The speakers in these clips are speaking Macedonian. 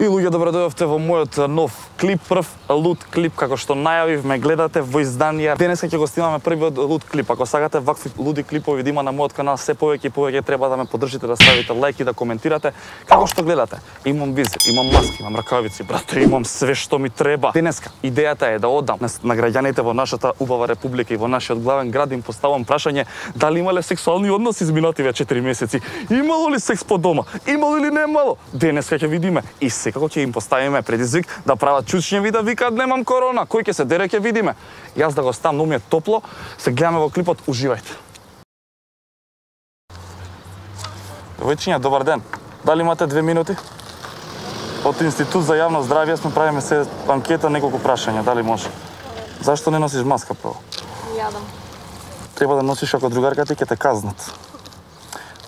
И луѓе, добро дојдовте во мојот нов клип, прв луд клип, како што најавив, ме гледате во изданија. Денеска ќе го снимаме првиот луд клип. Ако сакате вакви луди клипови да има на мојот канал, се повеќе и повеќе треба да ме поддржите, да ставите лајк и да коментирате. Како што гледате, имам визир, имам маски, имам ракавици, брате, имам све што ми треба. Денеска идејата е да одам на граѓаните во нашата убава република и во нашиот главен град, им поставам прашање дали имале сексуални односи изминативе 4 месеци. Имало ли секс по дома? Имало или немало? Денеска ќе видиме и секако ќе им поставиме предизвик да прават чучњеви да викаат немам корона. Кој ќе се дере ќе видиме. Јас да го ставам, но ми е топло. Се гледаме во клипот, уживајте. Девојчиња, добар ден. Дали имате 2 минути? Од Институт за јавно здравје сме правиме се анкета, неколку прашања, дали може? Зашто не носиш маска прво? Јадам. Треба да носиш ако другарката ќе те казнат.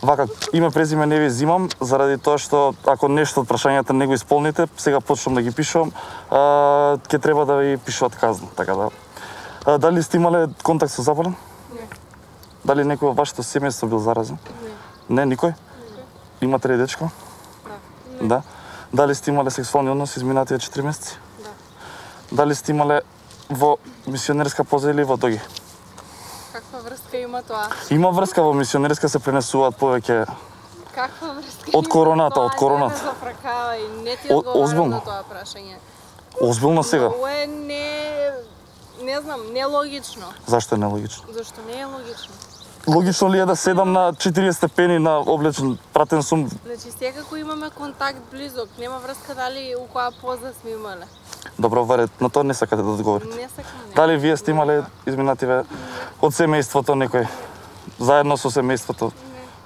Вака, име, презиме не ви взимам, заради тоа што ако нешто од прашањата не го исполните, сега почнам да ги пишувам, ќе треба да ви пишуваат казна, така да. Дали сте имале контакт со заболен? Не. Дали некој во вашето семејство бил заразен? Не. Не, никој? Имате ли дечко? Да. Не. Да. Дали сте имале сексуални односи изминативе 4 месеци? Да. Дали сте имале во мисионерска поза или во доги? Каква врска има тоа? Има врска, во мисионерска се пренесуваат повеќе Каква врска од короната, од короната. Не ме зафракава и не ти одговарам озбилно? на тоа прашање. Озбилно сега? Ова е не знам, нелогично. Зашто е нелогично? Зашто не е логично? Логично ли е да седам на 40 степени на облечен, пратен сум? Значи секако имаме контакт близок, нема врска дали у која поза сме имале. Добро, варе, на тоа не сакате да одговорите. Не сакам. Не. Дали вие сте имале изминативе од семејството некој? Заедно со семејството?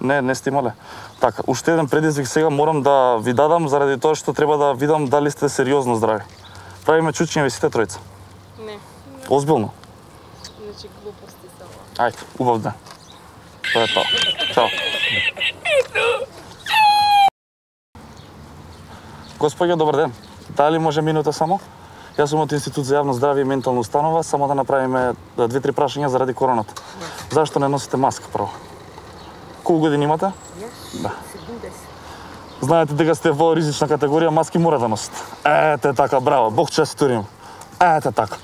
Не сте имале. Така, уште еден предизвик сега морам да ви дадам заради тоа што треба да видам дали сте сериозно здрави. Правиме чучњеви сите тројца. Не. Озбилно? Значи глупости се ова. Ајде, убав ден. Тоа е тоа. Чао. Господје, добар ден. Дали може минута само? Јас сум од Институт за јавно здравје и ментална установа, само да направиме 2-3 прашања заради короната. Зашто не носите маска прво? Колку години имате? Јас? Да. 70. Знаете дека сте во ризична категорија, маски мора да носите. Ете така, браво, Бог честитори им. Ете така.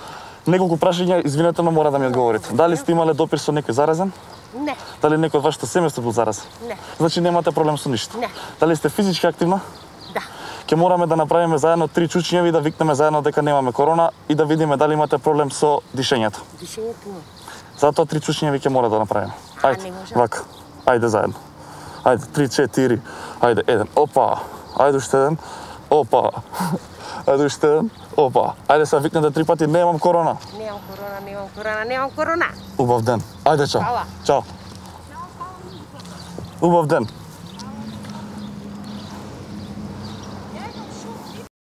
Неколку прашања, извинете, но мора да ми одговорите. Дали сте имале допир со некој заразен? Не. Дали некој од вашето семејство бил заразен? Не. Значи немате проблем со ништо? Не. Дали сте физички активна? Да. Ќе мораме да направиме заедно 3 чучњеви и да викнеме заедно дека немаме корона и да видиме дали имате проблем со дишењето. Дишењето има. Затоа 3 чучњеви ќе мора да направиме. Ајде, не може. вака. Ајде заедно. Ајде, 3-4. Ајде, еден. Опа. Ајде уште еден. Опа. Ајде уште еден. Опа. Ајде се викнете 3 пати, немам корона. Немам корона, немам корона, немам корона. Убав ден. Ајде, чао. Фала. Чао. Убав ден.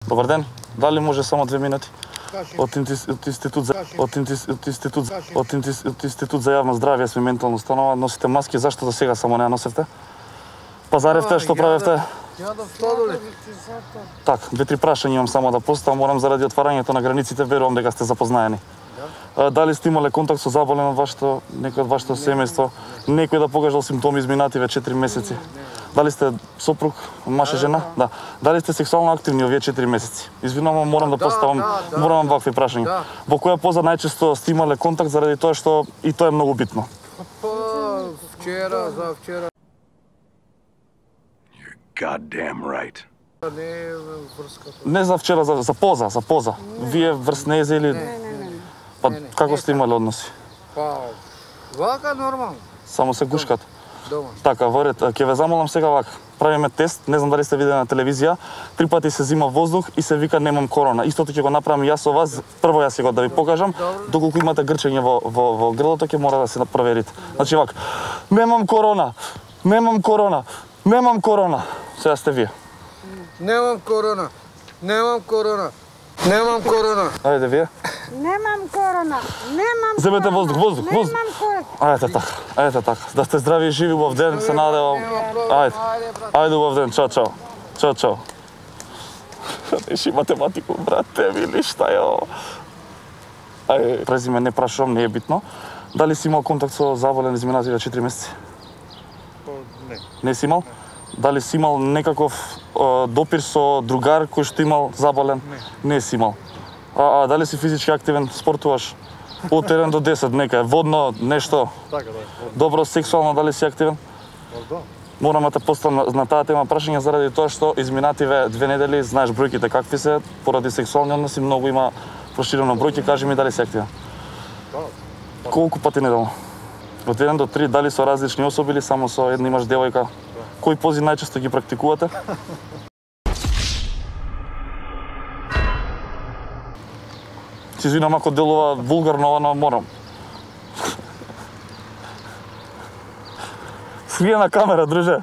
Добар ден. Дали може само 2 минути? Од Институт за јавно здравје сме ментална установа, носите маски, зашто до сега само не ја носевте? Пазаревте, што правевте? Јадам сладолед. Так, 2-3 прашања имам само да поставам, морам заради отварањето на границите, верувам дека сте запознаени. Дали сте имале контакт со заболен од вашето, некој од вашето семејство? Некој да покажал симптоми изминативе 4 месеци? Дали сте сопруг, маж и жена? Да. Дали сте сексуално активни овие 4 месеци? Извинувам, морам да поставам, морам вакви прашања. Во која поза најчесто сте имале контакт заради тоа што и тоа е многу битно? Вчера, за вчера. Goddamn right. Не е врската. Не за вчера, за поза. Вие врснезе или... Па како сте имале односи? Па, вака нормално. Само се гушкат? Дома. Така, во ред, ќе ве замолам сега вака. Правиме тест, не знам дали сте видели на телевизија, 3 пати се зима воздух и се вика немам корона. Истото ќе го направам јас со вас, прво јас ќе го да ви покажам, доколку имате грчење во грлото ќе мора да се проверите. Значи вака, немам корона, немам корона, немам корона. Сега сте вие. Немам корона. Немам корона. Немам корона. Ајде вие. Немам корона. Немам. Земете воздух. Немам корона. Ајде така. Да сте здрави и живи убав ден, се надевам. Ајде убав ден, чао. Чао. Реши математику, брате, вили шта јо. Ајде, презиме не прашувам, не е битно. Дали си имал контакт со заболен изминативе 4 месеци? Не. Не си имал? Дали си имал некаков допир со другар кој што имал заболен? Не си имал. А дали си физички активен, спортуваш? Од 1 до 10, нека е водно, нешто? Така, да. Добро, сексуално, дали си активен? Да. Морам да те поставам на таа тема прашање заради тоа што изминативе 2 недели, знаеш бројките какви се, поради сексуални односи многу има проширено бројки, кажи ми дали си активен? Да. Колку пати неделно? Од 1 до 3, дали со различни особи или само со една имаш девојка? Кои пози најчесто ги практикувате? Си извинам ако делува вулгарно, но морам. Свија на камера, друже.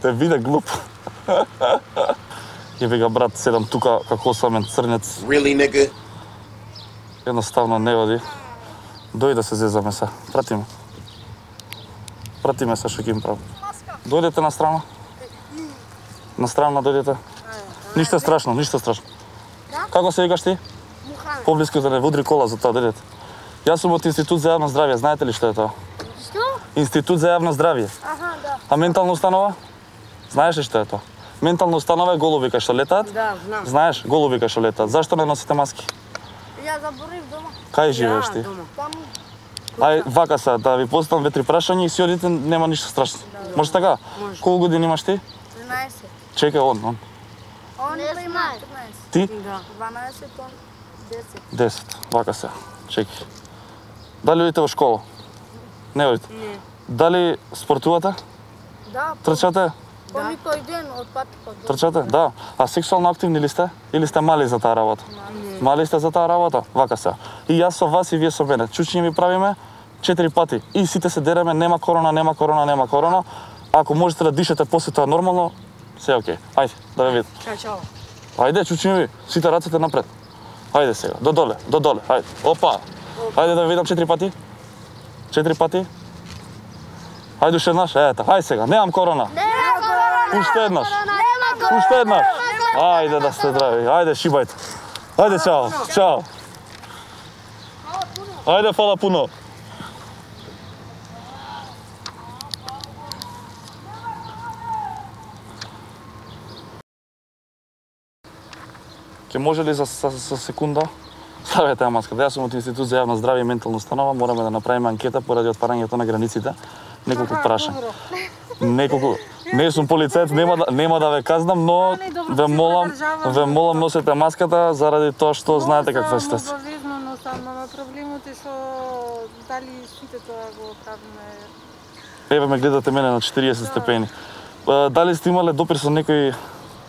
Те виде глуп. Јеби ga брат, седам тука како осамен црнец. Really, nigga? Едноставно не оди. Дојде да се зезаме се. Прати ме. Прати ме се што ќе им правам. Дојдете на страна. На страна дојдете. Ништо страшно, ништо страшно. Како се викаш ти? Поблиску да не удри кола за тоа, дојдете. Јас сум од Институт за јавно здравје, знаете ли што е тоа? Што? Институт за јавно здравје. Аха, да. А ментална установа? Знаеш ли што е тоа? Ментална установа е голуби кај што летаат? Да, знам. Знаеш, голуби кај што летаат. Зашто не носите маски? Ја заборив дома. Кај живееш ти? дома. Таму. Ај, вака са, да ви поставам 2-3 прашања и си одите, нема ништо страшно. Може така? Може. Колку години имаш ти? 13. Чекај, он. Он има 14. Ти? Да. 12, он 10. 10. Вака се. Чекај. Дали одите во школа? Не одите? Не. Дали спортувате? Да, Трчате? по никој ден од пати па до. Трчате? Да. А сексуално активни ли сте? Или сте мали за таа работа? Мали сте за таа работа? Вака се. И јас со вас и вие со мене. Чучиња ми правиме 4 пати. И сите се дереме, нема корона, нема корона, нема корона. Ако можете да дишете после тоа нормално, се е окей. Ајде, да ве видам. Чао. Ајде, чучиња ви, сите рацете напред. Ајде сега, до доле, ајде. Опа. Ајде да видам 4 пати. 4 пати. Ајде уште еднаш, ето, ајде сега, немам корона. Нема корона. Уште еднаш. Нема корона. Уште еднаш. Ајде да сте здрави, ајде шибајте. Ајде, чао, чао. Ајде, фала пуно. Ке може ли за секунда? Ставете ја маската. Јас сум од Институт за јавно здравје и ментална установа. Мораме да направиме анкета поради отварањето на границите. Неколку прашања. Неколку. Не сум полицаец, нема да ве казнам, но ве молам носете маската заради тоа што знаете каква е ситуација. Обавезно носам, ама проблемот е што дали сите тоа го правиме. Еве ме гледате мене на 40 степени. Дали сте имале допир со некој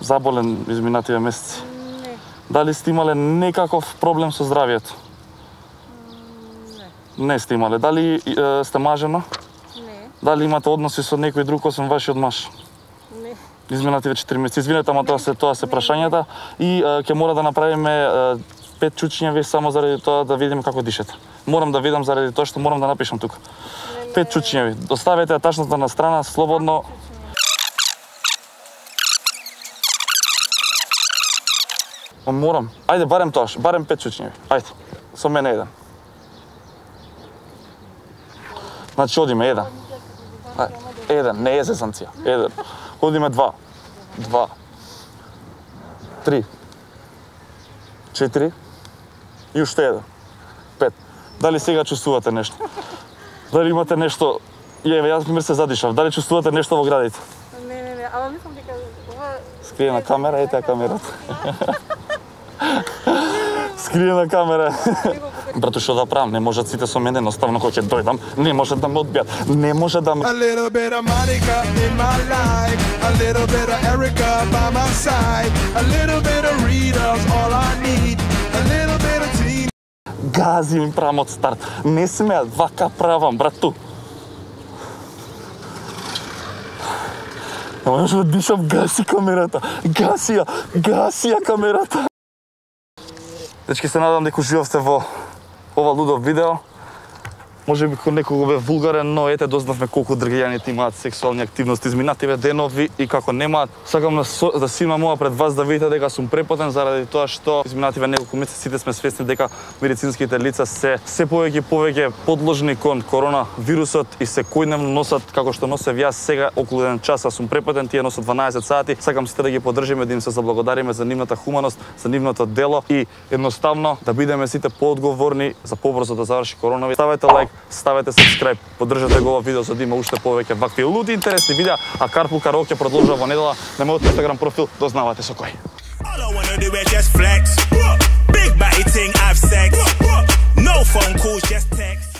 заболен изминативе месеци? Не, Дали сте имале некаков проблем со здравјето? Не сте имале. Дали сте мажена? не, Дали имате односи со некој друг освен вашиот маж? не. Изминативе 4 месеци. Извинете, ама тоа се прашањата и ќе мора да направиме 5 чучиња само заради тоа да видиме како дишете. Морам да видам заради тоа што морам да напишам тука. 5 чучиња ви. Оставете ја тачната на страна, слободно. Морам. Ајде, барем тоа, барем 5 чучиња ви. Ајде, со мене еден. Значи, одиме еден. Еден, не е зезанција. Еден. Одиме 2. 2. 3. 4. И уште еден. 5. Дали сега чувствувате нешто? Дали имате нешто? Еве, јас пример се задишав. Дали чувствувате нешто во градите? Не, ама мислам дека ова Скриена камера, ете камерата. Скриена камера. Брато, што да правам? Не можат сите со мене, едноставно кога ќе дојдам, не може да ме одбијат. Не може да ме... A little bit of Monica in my life, a little bit of Erica by my side, a little bit of Rita's all I need, a little bit of Tina. Гази им правам од старт. Не смеат, вака правам, брату. Не можеш да дишам, гаси камерата. Гаси ја камерата. Дечки, се надам дека уживавте во ова лудов видео. може би некого бе вулгарен, но ете дознавме колку дргајаните имаат сексуални активности изминативе денови и како немаат. Сакам да сима моја пред вас да видите дека сум препотен заради тоа што изминативе неколку месеци сите сме свесни дека медицинските лица се повеќе и повеќе подложни кон корона вирусот и секојдневно носат како што носев јас сега околу 1 час, сум препотен, тие носат 12 сати. Сакам сите да ги поддржиме, да им се заблагодариме за нивната хуманост, за нивното дело и едноставно да бидеме сите поодговорни за побрзо да заврши коронавирус. Ставете лайк, ставете subscribe, поддржете го ова видео за да има уште повеќе вакви луди интересни видеа, а Карпул Караоке продолжува во недела на мојот Instagram профил, дознавате со кој. All I wanna do is just flex. Big body ting, I've sex. No phone calls, just text.